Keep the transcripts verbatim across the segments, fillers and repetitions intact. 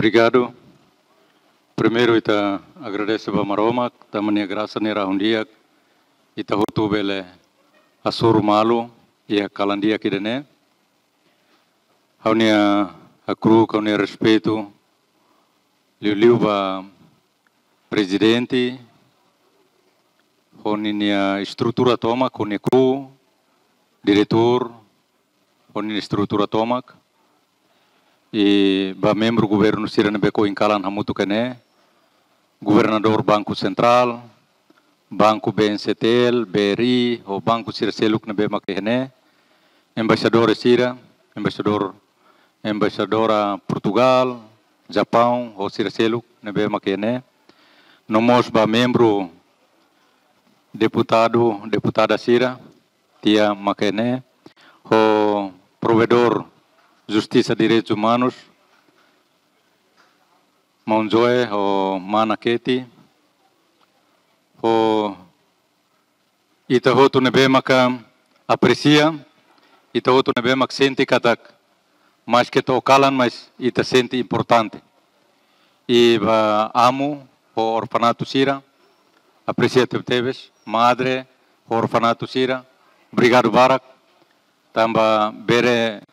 Obrigadu. Primeiru ita agradese ba Maromak, tanba nia grasa nia rahun di'ak, ita hotu bele hasoru malu iha kalan di'ak ida-ne'e. Ha'u-nia hakru'uk, ha'u-nia respeitu liuliu ba prezidente, ho ninia estrutura tomak, ho nia kru, diretór, ho ninia estrutura tomak, i ba membru governu sira ne'ebé ohin kalan hamutuk iha ne'e, governadór Banku Sentrál, Banku B N C T L, B R I, ho banku sira seluk ne'ebé mak iha ne'e, embaixadór sira, embaixadór, embaixadora Portugál, Japaun, ho sira seluk ne'ebé mak iha ne'e, no mós ba membru, deputadu, deputada sira, tia mak iha ne'e, ho provedór Justisa Direitus Umanus, maun Joe, ho mana Keti, ho ita hotu ne'ebé maka apresia, ita hotu ne'ebé mak sente katak, maske to'o kalan, mas ita sente importante. I ba amu ho orfanatu sira, apresia tebetebes, madre ho orfanatu sira, obrigadu barak, tanba bele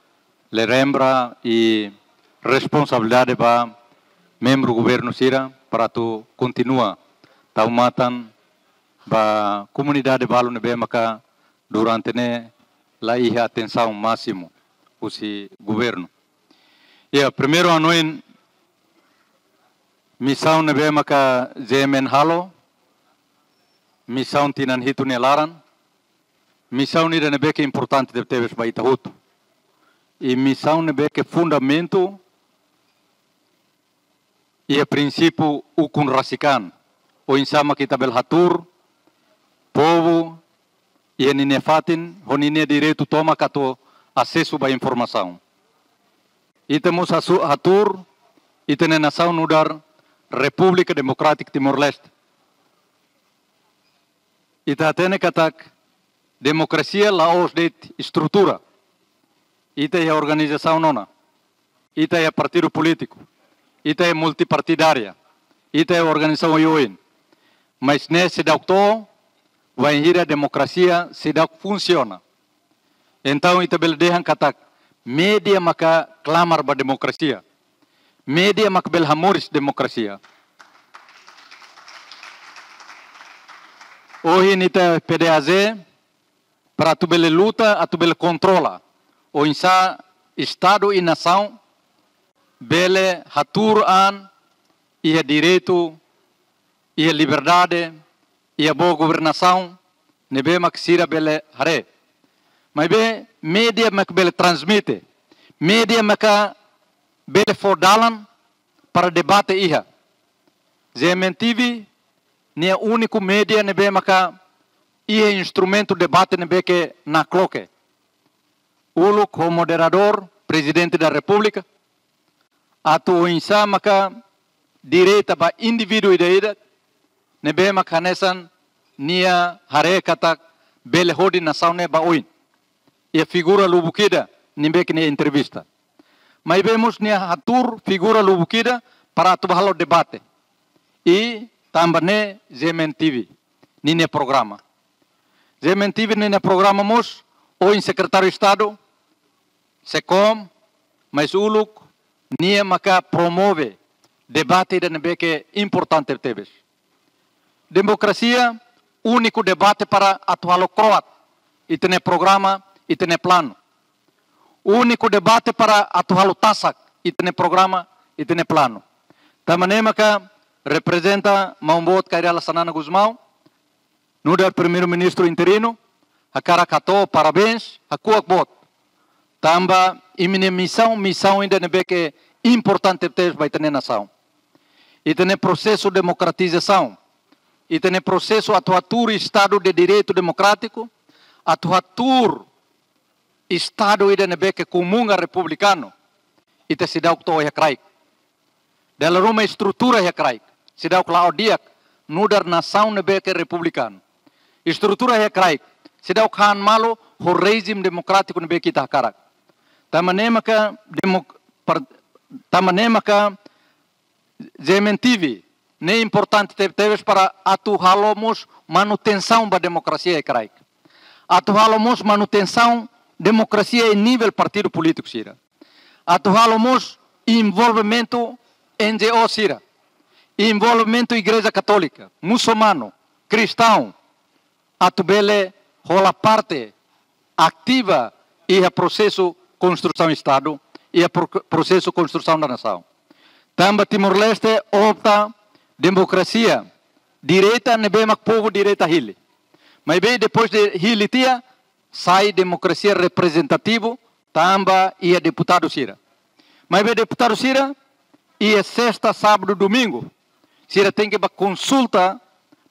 relembra i responsabilidade ba membru governu sira para atu kontinua tau matan ba komunidade balu ne'ebé maka durante ne'e la iha atensaun másimu husi governu. Iha primeiru hanoin misaun ne'ebé maka G M N halo, misaun tinan hitu nia laran, misaun ida ne'ebé ke importante tebetebes ba ita hotu. I misaun ne'ebé ke fundamentu iha prinsípiu ukun rasik an, oinsá mak ita bele hatuur povu iha ninia fatin, ho ninia direitu tomak atu asesu ba informasaun. Ita mós hasu-, hatuur ita-nia nasaun nu'udar Repúblika Demokrátika Timor-Leste. Ita hatene katak demokrasia la'ós de'it estrutura. Ita iha organizasaun ona. Ita iha partidu polítiku. Ita iha multipartidária. Ita iha organizasaun oioin. Mas ne'e seidauk to'o bainhira demokrasia seidauk funsiona. Entaun, ita bele dehan katak mídia maka klamar ba demokrasia. Mídia mak bele hamoris demokrasia. Ohin ita PDAJ, para atu bele luta, atu bele kontrola oinsá Estadu i nasaun bele hatuur an iha direitu, iha liberdade, iha boa governasaun ne'ebé mak sira bele haree. Maibé mídia mak bele transmite, mídia maka bele fó dalan para debate iha. G M N T V ne'e úniku mídia ne'ebé maka iha instrumentu debate ne'ebé ke nakloke. Uluk ho moderadór, Prezidente da Repúblika, atu oinsá maka direta ba indivíduu ida-idak ne'ebé mak hanesan nia haree katak bele hodi nasaun ne'e ba oin. Iha figura lubuk ida ne'ebé ke nia entrevista. Maibé mós nia hatuur figura lubuk ida para atu ba halo debate. I tanba ne'e G M N T V ninia programa. G M N T V ninia programa mós ohin Sekretáriu Estadu, SECOM, mais uluk, nia maka promove debate ida ne'ebé ke importante tebes. Demokrasia, úniku debate para atu halo kroat ita-nia programa, ita-nia planu. Úniku debate para atu halo tasak ita-nia programa, ita-nia planu. Tanba ne'e maka reprezenta maun boot Kay Rala Xanana Gusmão, nu'udar Primeiru-Ministru interinu, hakarak hato'o parabéns, hakuak boot. Tanba imi-nia misaun, misaun ida ne'ebé ke importante tebes ba ita-nia nasaun. Ita-nia prosesu demokratizasaun, ita-nia prosesu atu hatuur Estadu de Direitu Demokrátiku, atu hatuur Estadu ida ne'ebé ke komunga republikanu, ita seidauk to'o iha kraik. Dala ruma estrutura iha kraik seidauk la'o di'ak nu'udar nasaun ne'ebé ke republikanu. Estrutura iha kraik seidauk han malu ho rejime demokrátiku ne'ebé ke ita hakarak. Tanba ne'e maka demok-, par-, tanba ne'e maka G M N T V, ne'e importante tebetebes para atu halo mós manutensaun ba demokrasia iha kraik. Atu halo mós manutensaun demokrasia iha nivel partidu polítiku sira. Atu halo mós envolvimentu N G O sira, envolvimentu Igreja Katólika, musulmanu, kristaun, atu bele hola parte ativa iha prosesu konstrusaun Estadu, iha pro-, prosesu konstrusaun da nasaun. Tanba Timor-Leste opta demokrasia direta ne'ebé mak povu direta hili. Maibé depois de hili tiha, sai demokrasia reprezentativu, tanba iha deputadu sira. Maibé deputadu sira, iha sesta, sábadu, domingu, sira tenke bá konsulta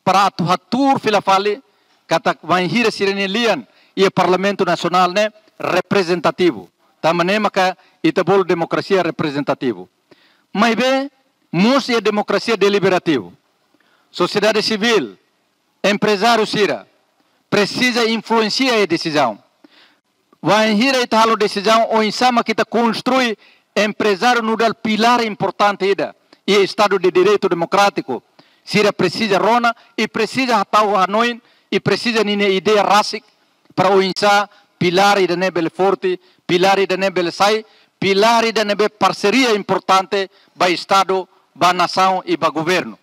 para atu hatuur fila fali katak bainhira sira-nia lian iha Parlamentu Nasionál ne'e reprezentativu. Tanba ne'e maka ita bolu demokrasia reprezentativu. Maibé mós iha demokrasia deliberativu. Sosiedade sivíl, emprezáriu sira presiza influensia iha desizaun. Bainhira ita halo desizaun oinsá mak ita konstrui emprezáriu nu'udar pilár importante ida iha Estadu de Direitu Demokrátiku, sira presiza rona i presiza hatau hanoin i presiza ninia ideia rasik para oinsá pilár ida-ne'e bele forte, pilár ida-ne'e bele sai pilár ida ne'ebé parseria importante ba Estadu, ba nasaun i ba governu.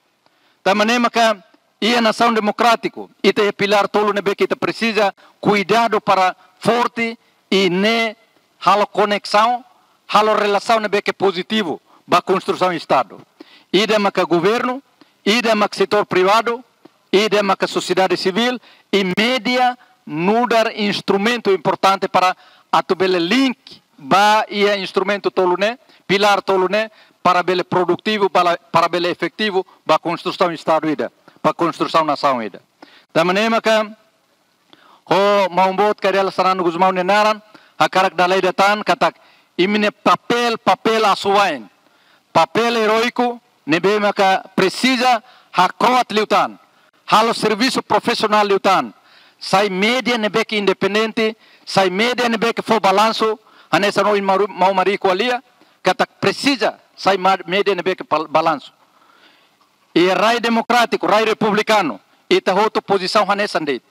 Tanba ne'e maka iha nasaun demokrátiku, ita iha pilár tolu ne'ebé ke ita presiza kuidadu para forte i ne'e halo koneksaun, halo relasaun ne'ebé ke pozitivu ba konstrusaun Estadu. Ida maka governu, ida maka setór privadu, ida maka sosiedade sivíl i média nu'udar instrumentu importante para atu bele link ba iha instrumentu tolu ne'e, pilár tolu ne'e, para bele produtivu, para, para bele efetivu ba konstrusaun Estadu ida, ba konstrusaun nasaun ida. Tanba ne'e maka ho maun boot Kay Rala Xanana Gusmão nia naran, hakarak dala ida tan katak imi-nia papél, papél asuwa'in, papél eróiku ne'ebé maka presiza hakroat liután, halo servisu profisionál liután, sai média ne'ebé ke independente, sai média ne'ebé ke fó balansu, hanesan ohin maru-, maun Mari ko'alia, katak presiza sai ma-, média ne'ebé ke pal-, balansu. Iha rai demokrátiku, rai republikanu, ita hotu pozisaun hanesan de'it.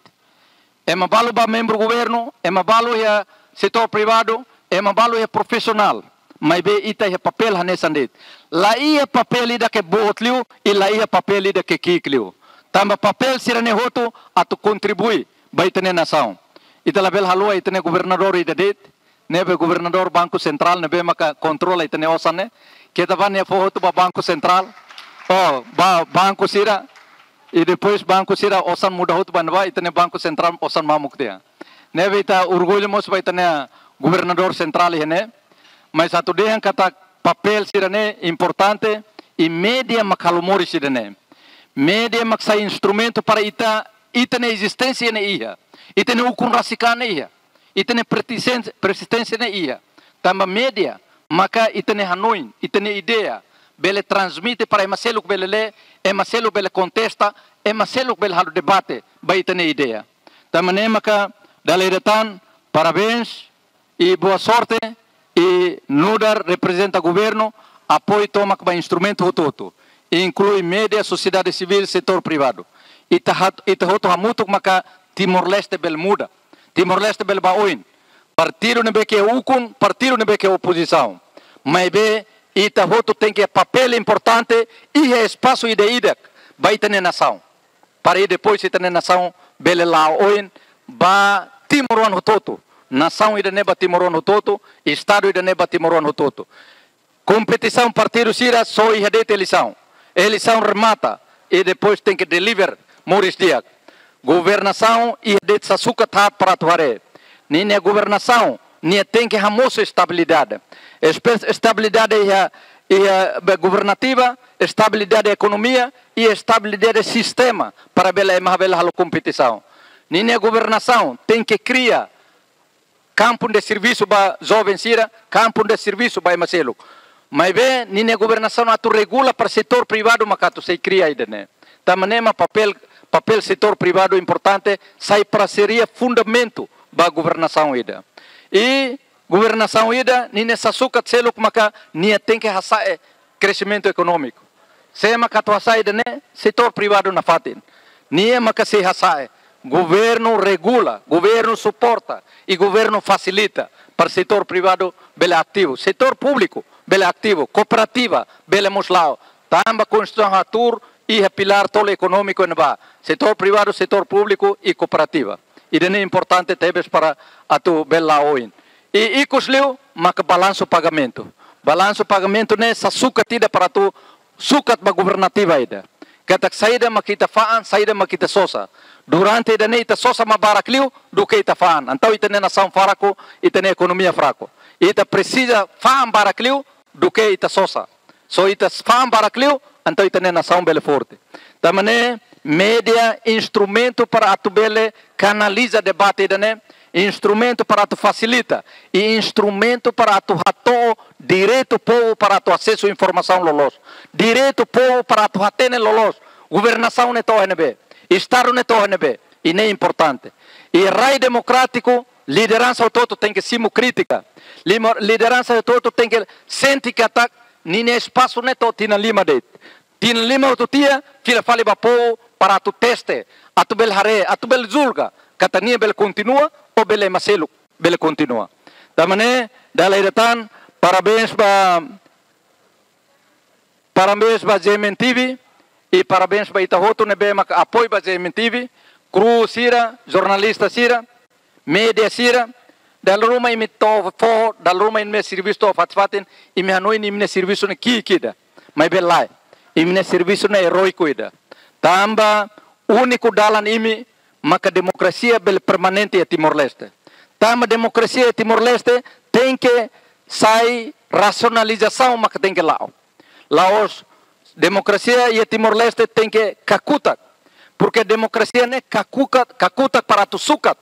Ema balu bá membru governu, ema balu iha setór privadu, ema balu iha profisionál. Maibé ita iha papél hanesan de'it. La iha papél ida ke boot liu, i la iha papél ida ke ki'ik liu. Tanba papél sira-ne'e hotu atu kontribui ba ita-nia nasaun. Ita labele haluha ita-nia governadór ida de'it, ne'ebé governadór Banku Sentrál ne'ebé maka kontrola ita-nia osan ne'e. Keta bá nia fó hotu ba Banku Sentrál. Oh, ba banku sira. I depois banku sira osan muda hotu ba ne'ebá, ita-nia Banku Sentrál osan mamuk tiha. Ne'ebé ita orgullu mós ba ita-nia governadór sentrál iha ne'e. Mas atu dehan katak papél sira-ne'e importante, i média mak halo moris ida-ne'e. Média mak sai instrumentu para ita, ita-nia ezisténsia ne'e iha, ita-nia ukun rasik an ne'e iha, ita-nia persisten-, persisténsia ne'e iha. Tanba média maka ita-nia hanoin, ita-nia ideia bele transmite para ema seluk bele lee, ema seluk bele kontesta, ema seluk bele halo debate ba ita-nia ideia. Tanba ne'e maka dala ida tan, parabéns i boa sorte, i nu'udar reprezenta governu, apoiu tomak ba instrumentu hotu-hotu, inklui média, sosiedade sivíl, setór privadu. Ita hat-, ita hotu hamutuk maka Timor-Leste bele muda. Timor-Leste bele bá oin. Partidu ne'ebé ke ukun, partidu ne'ebé ke opozisaun. Maibé ita hotu tenke papél importante iha espasu ida-idak ba ita-nia nasaun. Para i depois ita-nia nasaun bele la'o oin ba timoroan hotu-hotu. Nasaun ida-ne'e ba timoroan hotu-hotu, Estadu ida-ne'e ba timoroan hotu-hotu. Kompetisaun partidu sira só iha de'it eleisaun. Eleisaun remata, i depois tenke deliver moris di'ak. Governasaun iha de'it sasukat haat para atu haree. Ninia governasaun, nia tenke hamosu estabilidade. Espe-, estabilidade iha, iha be governativa, estabilidade ekonomia, i estabilidade sistema para bele ema bele halo kompetisaun. Ninia governasaun tenke kria kampu de servisu ba joven sira, kampu de servisu ba ema seluk. Maibé ninia governasaun atu regula para setór privadu maka atu sei kria ida-ne'e. Tanba ne'e mak papél, papél setór privadu importante, sai parseria fundamentu ba governasaun ida. I governasaun ida, ninia sasukat seluk maka nia tenke hasa'e kresimentu ekonómiku. Sé maka atu hasa'e ida-ne'e? Setór privadu nafatin. Nia maka sei hasa'e. Governu regula, governu suporta, i governu fasilita para setór privadu bele ativu, setór públiku bele ativu, kooperativa bele mós la'o. Tanba Konstituisaun hatuur iha pilár tolu ekonómiku ne'ebá: setór privadu, setór públiku i kooperativa. Ida-ne'e importante tebes para atu bele la'o oin. I ikus liu maka balansu pagamentu. Balansu pagamentu ne'e sai sukat ida para atu sukat ba governativa ida. Katak saida mak ita fa'an, saida mak ita sosa. Durante ida-ne'e ita sosa mak barak liu duké ita fa'an. Entaun ita-nia nasaun fraku, ita-nia ekonomia fraku. Ita presiza fa'an barak liu duké ita sosa. Se ita fa'an barak liu, entaun ita-nia nasaun bele forte. Tanba ne'e média instrumentu para atu bele kanaliza debate ida-ne'e, instrumentu para atu fasilita, i instrumentu para atu hato'o direitu povu para atu asesu informasaun loloos, direitu povu para atu hatene loloos governasaun ne'e to'o iha ne'ebé, Estadu ne'e to'o iha ne'ebé. I ne'e importante. I rai demokrátiku, lideransa hotu-hotu tenke simu krítika. Lima-, lideransa hotu-hotu tenke sente katak ninia espasu ne'e to'o tinan lima de'it. Tinan lima hotu tiha, fila fali ba povu para atu teste, atu bele haree, atu bele julga katak nia bele kontinua ou bele ema seluk bele kontinua. Tanba ne'e, dala ida tan, parabéns ba, parabéns ba G M N T V, i parabéns ba ita hotu ne'ebé maka apoiu ba G M N T V, kru sira, jornalista sira, média sira. Dala ruma imi to'o foho, dala ruma imi-nia servisu to'o fatin-fatin, imi hanoin imi-nia servisu ne'e ki'ik ida. Maibé lae, imi-nia servisu ne'e eróiku ida. Tanba úniku dalan imi maka demokrasia bele permanente iha Timor-Leste. Tanba demokrasia iha Timor-Leste tenke sai rasionalizasaun maka tenke la'o. La'ós demokrasia iha Timor-Leste tenke kakutak. Porke demokrasia ne'e kakutak, kakutak para atu sukat,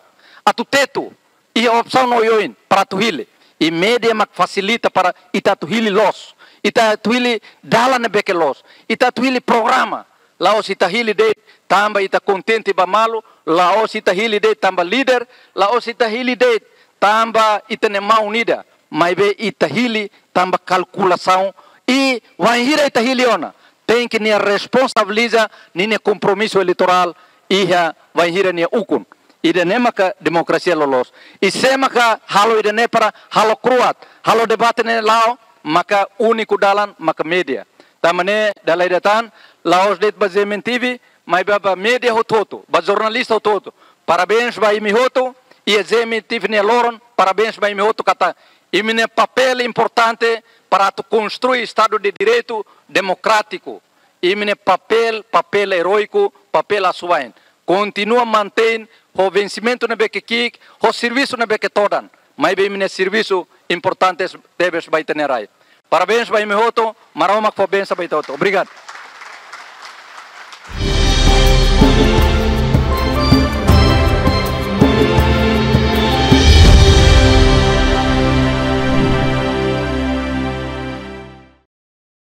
atu tetu, iha opsaun oioin para atu hili. I média mak fasilita para ita atu hili loos, ita atu hili dalan ne'ebé ke loos, ita atu hili programa. La'ós ita hili de'it tanba ita kontente ba malu, la'ós ita hili de'it tanba líder, la'ós ita hili de'it tanba ita-nia maun ida, maibé ita hili tanba kalkulasaun. I wainhira ita hili ona, tenke nia responsabiliza ninia kompromisu eleitorál iha wainhira nia ukun. Ida-ne'e maka demokrasia loloos. I sé maka halo ida-ne'e para halo kro'at, halo debate ne'e la'o, maka úniku dalan maka média. Tanba ne'e dala ida tan, la'ós de'it ba G M N T V, maibé ba média hotu-hotu, ba jornalista hotu-hotu. Parabéns ba imi hotu, iha G M N T V nia loron, parabéns ba imi hotu katak imi-nia papél importante para atu konstrui Estadu de Direitu demokrátiku. Imi-nia papél, papél eróiku, papél asuwa'in. Kontinua mantein ho vensimentu ne'ebé ke ki'ik, ho servisu ne'ebé ke todan. Maibé imi-nia servisu importante tebes ba ita-nia rai. Parabéns ba imi hotu, Maromak fó bensaun ba ita hotu. Obrigadu.